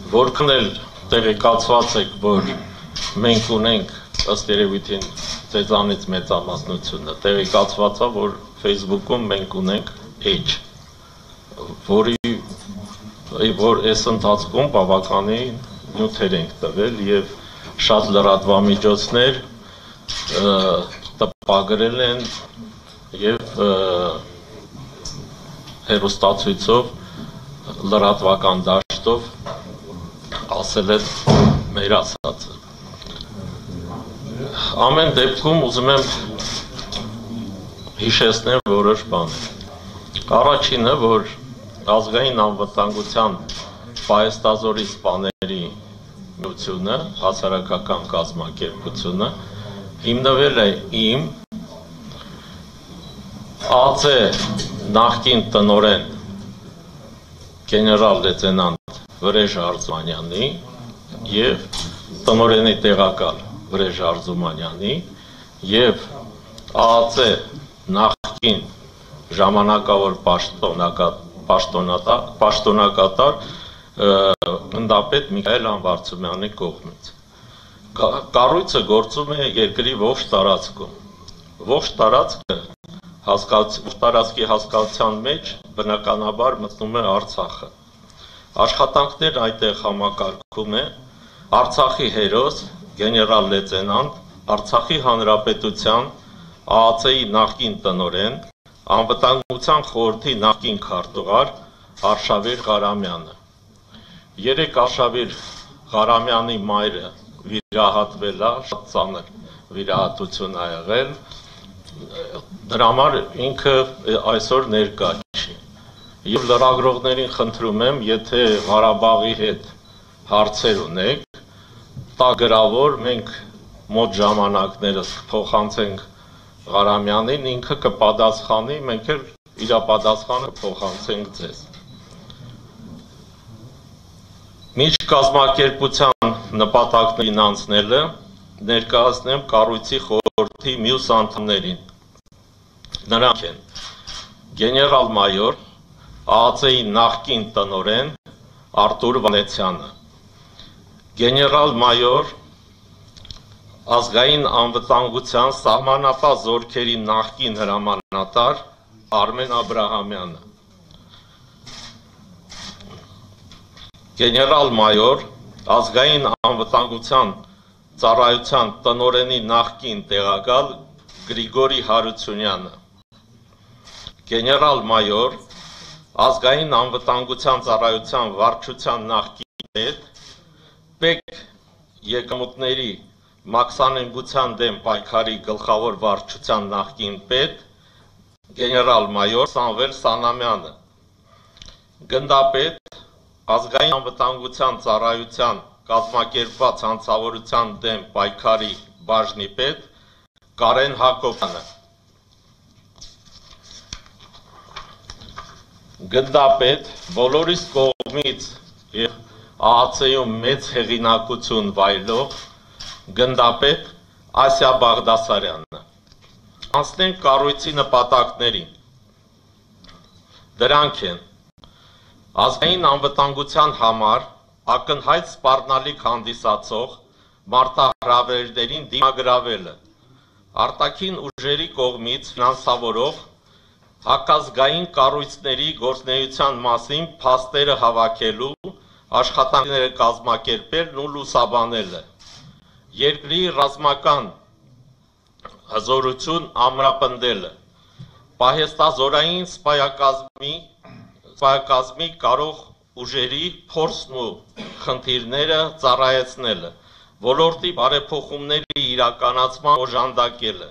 Որքան էլ տեղեկացված եք, որ մենք ունենք ըստ երևույթին ձեզանից մեծամասնությունը, տեղեկացված է, որ Facebook-ում մենք ունենք Edge, որ այս ընթացքում բավականին նյութեր ենք տվել և շատ լրատվամիջոցներ տպագրել են և հեռուստացույցով լրատվական դաշտով ասել են մեր ասածը։ Ամեն դեպքում ուզում եմ հիշեցնել որոշ բաներ։ Առաջինը, որ ազգային անվտանգության պահեստազորի սպաների միությունը, հասարակական կազմակերպությունը, հիմնվել է իմ ԱԾ նախկին տնօրեն գեներալ լեյտենանտ Վրեժ Արզումանյանի և տնօրենի տեղակալ Վրեժ Արզումանյանի և ԱԱԾ նախկին ժամանակավոր պաշտոնակատար գնդապետ Միքայել Անվարդցումյանի կողմից։ Կառույցը գործում է երկրի ողջ տարածքում։ Ողջ տարածքի հասկացության մեջ բնականաբար մտնում է Արցախը։ Աշխատանքներն այդտեղ համակարգում է Արցախի հերոս, գեներալ լեյտենանտ, Արցախի Հանրապետության ԱԱԾ-ի նախկին տնօրեն, Անվտանգության խորհրդի նախկին քարտուղար Արշավիր Ղարամյանը։ Երեկ Արշավիր Ղարամյանի մայրը վիրահատվել է, շատ ծանր վիրահատություն է եղել, դրա համար ինքը այսօր ներկա չի։ Եվ լրագրողներին խնդրում եմ, եթե Ղարաբաղի հետ հարցեր ունեք, տա գրավոր, մենք մոտ ժամանակներս կփոխանցենք Ղարամյանին, ինքը կպատասխանի, մենք էլ իր պատասխանը կփոխանցենք ձեզ։ Միջկազմակերպության նպատակներին անցնելը ներկայացնեմ կառույցի խորհրդի մյուս անդամներին։ Նրանք են գեներալ-մայոր, ԱԱԾ-ի նախկին տնօրեն Արտուր Վանեցյանը, գեներալ-մայոր, ազգային անվտանգության սահմանապահ զորքերի նախկին հրամանատար Արմեն Աբրահամյանը, գեներալ-մայոր, ազգային անվտանգության ծառայության տնօրենի նախկին տեղակալ Գրիգորի Հարությունյանը, գեներալ-մայոր, ազգային անվտանգության ծառայության վարչության նախկին պետ, ՊԵԿ եկամուտների մաքսանենգության դեմ պայքարի գլխավոր վարչության նախկին պետ, գեներալ-մայոր Սամվել Սանամյանը, գնդապետ, ազգային անվտանգության ծառայության կազմակերպված հանցավորության դեմ պայքարի բաժնի պետ Կարեն Հակոբյանը, գնդապետ, բոլորիս կողմից և ԱԱՑ-ում մեծ հեղինակություն վայելող գնդապետ Ասիա Բաղդասարյանը։ Անցնենք կառույցի նպատակներին։ Դրանք են ազգային անվտանգության համար ակնհայտ սպառնալիք հանդիսացող մարտահրավերներին դիմագրավելը, արտաքին ուժերի կողմից ֆինանսավորող հակազգային կառույցների գործունեության մասին փաստերը հավաքելու, աշխատանքները կազմակերպելն ու լուսաբանելը, երկրի ռազմական հզորություն ամրապնդելը, պահեստազորային սպայակազմի կարող ուժերի փորձն ու խնդիրները ծառայեցնելը, ոլորտի բարեփոխումների իրականացման օժանդակելը,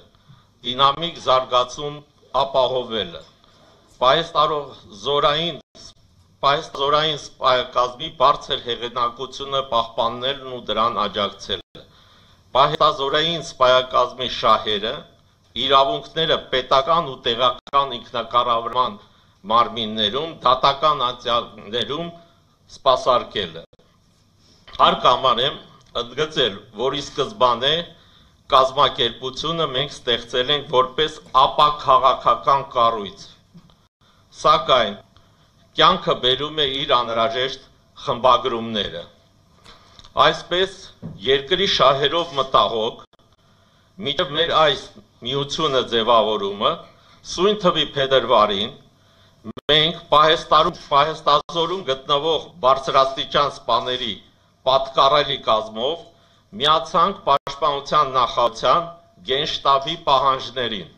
դինամիկ զարգացում ապահովելը, պահեստազորային սպայակազմի բարձր հեղինակությունը պահպանելն ու դրան աջակցելը, պահեստազորային սպայակազմի շահերը, իրավունքները պետական ու տեղական ինքնակառավարման մարմիններում, դատական անձանցում սպասարկելը։ Հարկ համարեմ ընդգծել, որ ի սկզբանե կազմակերպությունը մենք ստեղծել ենք որպես ապաքաղաքական կառույց, սակայն կյանքը բերում է իր անհրաժեշտ խմբագրումները։ Այսպես երկրի շահերով մտաղոք, մինչև մեր այս միությունը ձևավորումը, սույն թվի փետրվարին, մենք պահեստազորում գտնվող բարձրաստիճան սպաների պատկառելի կազմով միացանք Պաշտպանության նախարարության գենշտաբի պահանջներին,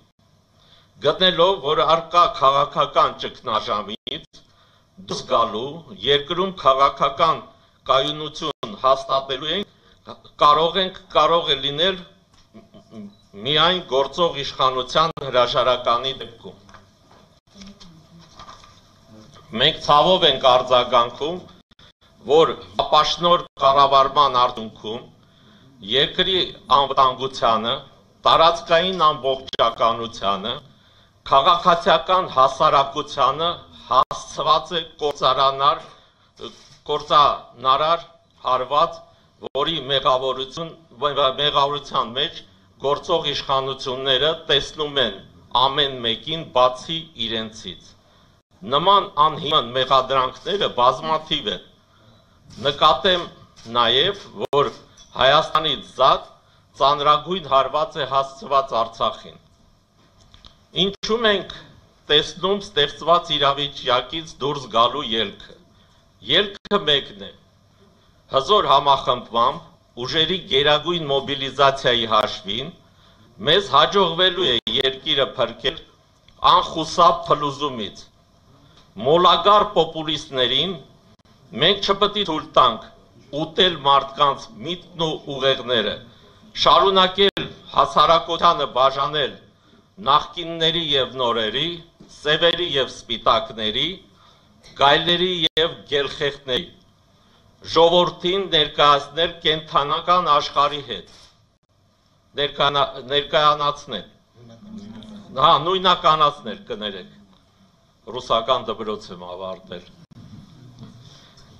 գտնելով, որ առկա քաղաքական ճգնաժամից դուրս գալու երկրում քաղաքական կայունություն հաստատելու ենք կարող է լինել միայն գործող իշխանության հրաժարականի դեպքում։ Մենք ցավով ենք արձագանքում, որ ապաշնոր կառավարման արդյունքում երկրի անվտանգությանը, տարածքային ամբողջականությանը, քաղաքացիական հասարակությանը հասցված է կործանարար հարված, որի մեղավորության մեջ գործող իշխանությունները տեսնում են ամեն մեկին բացի իրենցից։ Նման անհիմն մեղադրանքները բազմաթիվ են։ Նկատեմ նաև, որ Հայաստանից զատ ծանրագույն հարված է հասցված Արցախին։ Ինչու մենք տեսնում ստեղծված իրավիճակից դուրս գալու ելքը։ Ելքը մեկն է։ Հզոր համախմբմամբ ուժերի գերագույն մոբիլիզացիայի հաշվին մեզ հաջողվելու է երկիրը փրկել անխուսափ փլուզումից։ Մոլագար պոպուլիստներին մենք չպետք է թույլ տանք ուտել մարդկանց միտքն ու ուղեղները, շարունակել հասարակությանը բաժանել նախկինների և նորերի, սևերի և սպիտակների, գայլերի և գելխեղտների, ժողովրդին ներկայացնել կենդանական աշխարհի հետ, ներկայանացնել, նույնականացնել, կներեք, ռուսական դպրոց եմ ավարտել։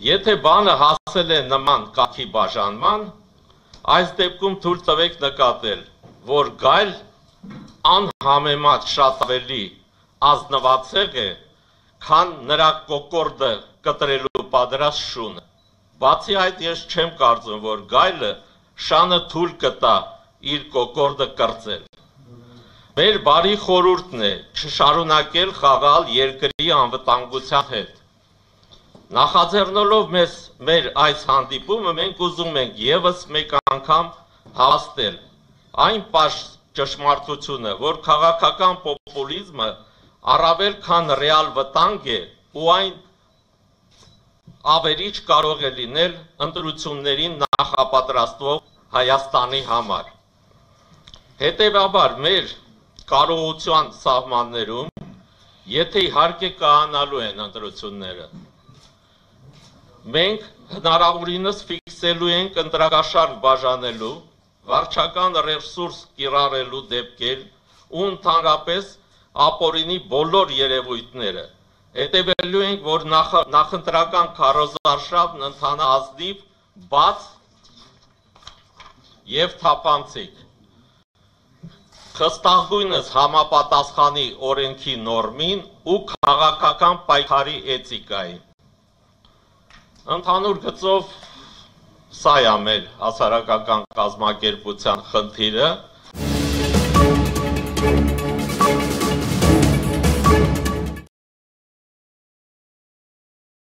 Եթե բանը հասել է նման կարգի բաժանման, այս դեպքում թույլ տվեք նկատել, որ գայլ անհամեմատ շատ ավելի ազնվացեղ է, քան նրա կոկորդը կտրելու պատրաստ շունը։ Բացի այդ, ես չեմ կարծում, որ գայլը շանը թույլ կտա իր կոկորդը կրծել։ Մեր բարի խորհուրդն է չշարունակել խաղալ երկրի անվտանգության հետ։ Նախաձեռնելով մեր այս հանդիպումը մենք ուզում ենք ևս մեկ անգամ հավաստել այն պարզ ճշմարտությունը, որ քաղաքական պոպուլիզմը առավել քան ռեալ վտանգ է ու այն ավերիչ կարող է լինել ընտրություններին նախապատրաստվող Հայաստանի համար։ Հետևաբար մեր կարողության սահմաններում, եթե իհարկե կայանալու են ընտրությունները, մենք հնարավորինս ֆիքսելու ենք ընտրակաշառք բաժանելու, վարչական ռեսուրս կիրառելու դեպքեր ու ընդհանրապես ապօրինի բոլոր երևույթները։ Հետևելու ենք, որ նախընտրական քարոզարշավն ընթանա ազնիվ, բաց և թափանցիկ, խստագույնս համապատասխանի օրենքի նորմին ու քաղաքական պայքարի էթիկային։ Ընդհանուր գծով սա է մեր հասարակական կազմակերպության խնդիրը,